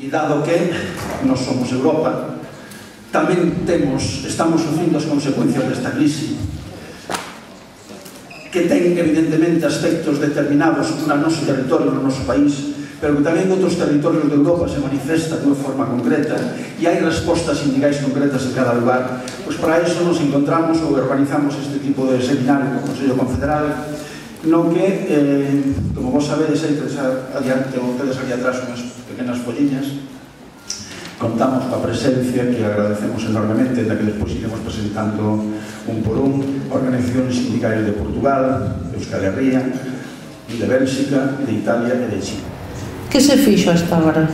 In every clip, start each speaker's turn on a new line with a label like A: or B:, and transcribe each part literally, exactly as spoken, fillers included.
A: E dado que nós somos Europa, tamén temos, estamos sufrindo as consecuencias desta crise, que ten evidentemente aspectos determinados no noso territorio, no noso país, pero que tamén en outros territorios de Europa se manifesta de unha forma concreta e hai respostas sindicais concretas en cada lugar. Pois para iso nos encontramos ou organizamos este tipo de seminario no Consello Confederal, no que, eh, como vos sabedes, hai tres adiante, ou tedes aquí atrás unhas pequenas folliñas. Contamos coa presencia, que agradecemos enormemente, da que despois iremos presentando un por un, organizacións sindicais de Portugal, de Euskal Herria, de Bélxica, de Italia e de Chile.
B: Que se fixo hasta agora?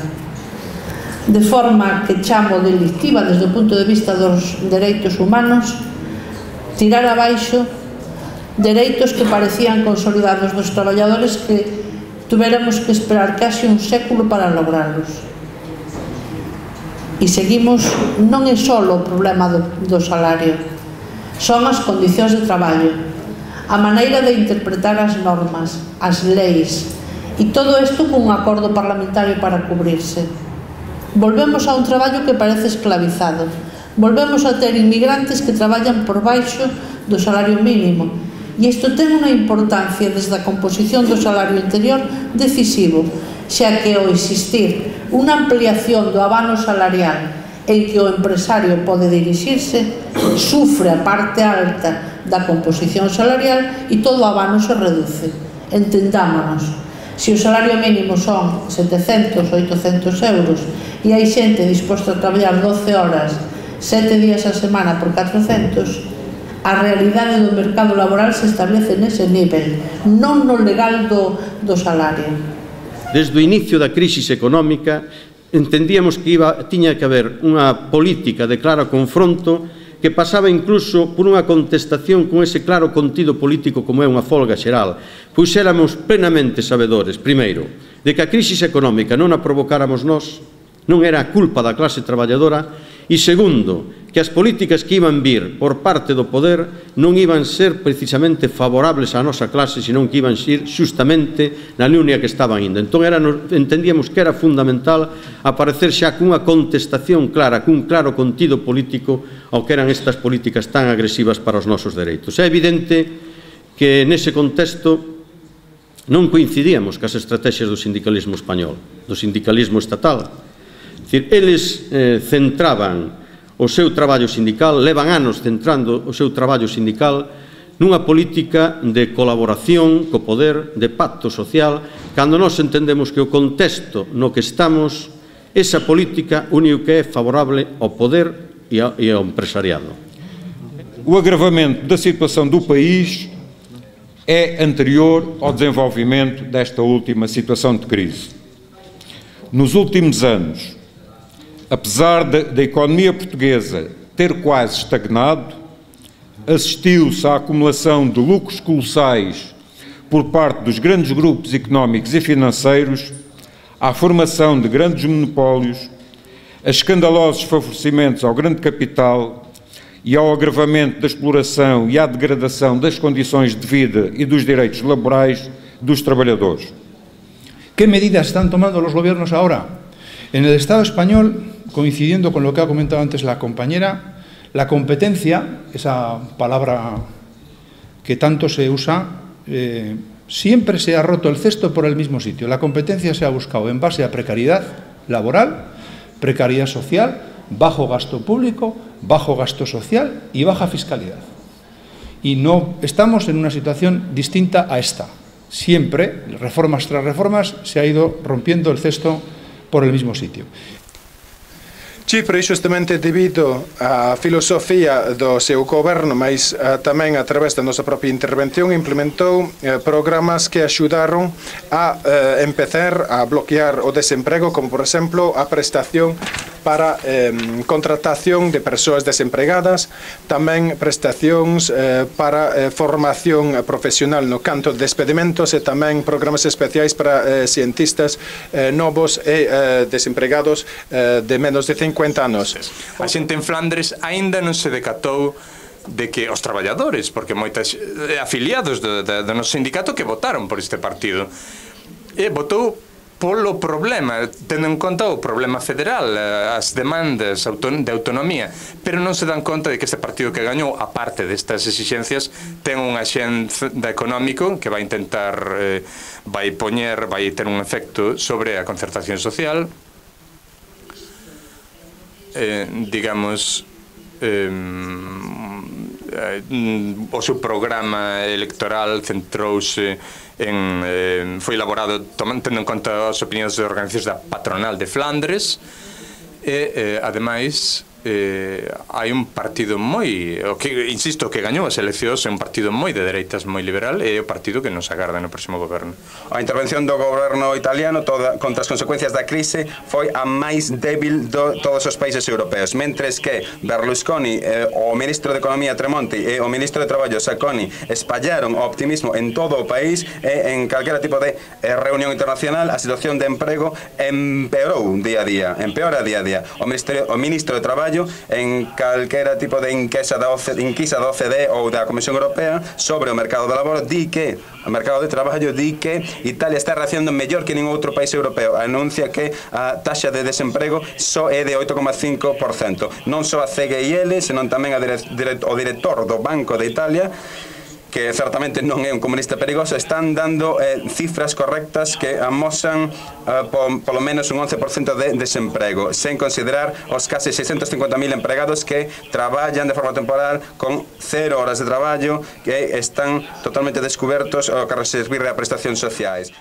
B: De forma que chamo delictiva desde o punto de vista dos dereitos humanos, tirar abaixo dereitos que parecían consolidados dos traballadores que tuveramos que esperar casi un século para lograrlos. E seguimos, non é só o problema do, do salario, son as condicións de traballo, a maneira de interpretar as normas, as leis, e todo isto con un acordo parlamentario para cubrirse. Volvemos a un traballo que parece esclavizado, volvemos a ter inmigrantes que traballan por baixo do salario mínimo, e isto ten unha importancia desde a composición do salario interior decisivo, xa que ao existir unha ampliación do abano salarial en que o empresario pode dirixirse, sufre a parte alta da composición salarial e todo o abano se reduce. Entendámonos, se o salario mínimo son setecentos, oitocentos euros e hai xente disposta a traballar doce horas, sete días a semana por catrocentos, a realidade do mercado laboral se establece nese nivel, non no legal do, do salario.
C: Desde o inicio da crise económica entendíamos que iba, tiña que haber unha política de claro confronto que pasaba incluso por unha contestación con ese claro contido político como é unha folga xeral, pois éramos plenamente sabedores, primeiro, de que a crise económica non a provocáramos nós, non era a culpa da clase traballadora, e segundo, que as políticas que iban vir por parte do poder non iban ser precisamente favorables á nosa clase, senón que iban ser xustamente na línea que estaban indo. Entón era, entendíamos que era fundamental aparecer xa cunha contestación clara, cun claro contido político ao que eran estas políticas tan agresivas para os nosos dereitos. É evidente que nese contexto non coincidíamos cas estrategias do sindicalismo español, do sindicalismo estatal. É dicir, eles eh, centraban o seu traballo sindical, levan anos centrando o seu traballo sindical nunha política de colaboración co poder, de pacto social, cando nós entendemos que o contexto no que estamos, esa política único que é favorable ao poder e ao empresariado.
D: O agravamento da situação do país é anterior ao desenvolvimento desta última situação de crise. Nos últimos anos, apesar da, da economia portuguesa ter quase estagnado, assistiu-se à acumulação de lucros colossais por parte dos grandes grupos económicos e financeiros, à formação de grandes monopólios, a escandalosos favorecimentos ao grande capital e ao agravamento da exploração e à degradação das condições de vida e dos direitos laborais dos trabalhadores.
E: ¿Qué medidas están tomando los gobiernos ahora? En el Estado español, coincidiendo con lo que ha comentado antes la compañera, la competencia, esa palabra que tanto se usa, eh, siempre se ha roto el cesto por el mismo sitio. La competencia se ha buscado en base a precariedad laboral, precariedad social, bajo gasto público, bajo gasto social y baja fiscalidad. Y no estamos en una situación distinta a esta. Siempre, reformas tras reformas, se ha ido rompiendo el cesto por el mismo sitio.
F: Chipre, xustamente debido á filosofía do seu goberno, mas uh, tamén a través da nosa propia intervención, implementou uh, programas que axudaron a uh, empezar a bloquear o desemprego, como por exemplo a prestación para eh, contratación de persoas desempregadas, tamén prestacións eh, para eh, formación profesional no canto de despedimentos e tamén programas especiais para eh, cientistas eh, novos e eh, desempregados eh, de menos de cincuenta anos.
G: A xente en Flandres aínda non se decatou de que os traballadores, porque moitas afiliados do, do, do noso sindicato que votaron por este partido, e votou polo problema, tendo en conta o problema federal, as demandas de autonomía, pero non se dan conta de que este partido que gañou, a parte destas exixencias, ten un axenda económico que vai intentar, eh, vai poñer, vai ter un efecto sobre a concertación social, eh, digamos, eh, o seu programa electoral centrouse en, eh, foi elaborado tendo en conta as opinións de organizacións da patronal de Flandres e, eh, ademais, eh, hai un partido moi, o que, insisto, que gañou as eleccións, é un partido moi de dereitas, moi liberal, e é o partido que nos agarda no próximo goberno.
H: A intervención do goberno italiano toda, contra as consecuencias da crise foi a máis débil de todos os países europeos, mentres que Berlusconi, eh, o ministro de Economía Tremonti e o ministro de Traballo Sacconi espallaron o optimismo en todo o país e en calquera tipo de eh, reunión internacional a situación de emprego empeorou día a día, empeora día a día. O, o ministro de Traballo en calquera tipo de enquisa da, enquisa da O C D E ou da Comisión Europea sobre o mercado de labor di que o mercado de traballo di que Italia está reaccionando mellor que ningún outro país europeo. Anuncia que a taxa de desemprego só é de oito coma cinco por cento. Non só a C G I L, senón tamén a dire, dire, o director do Banco de Italia, que certamente non é un comunista perigoso, están dando eh, cifras correctas que amosan eh, po, polo menos un once por cento de desemprego, sen considerar os case seiscentos cincuenta mil empregados que traballan de forma temporal con cero horas de traballo, que están totalmente descubertos ao que se servir a prestacións sociais.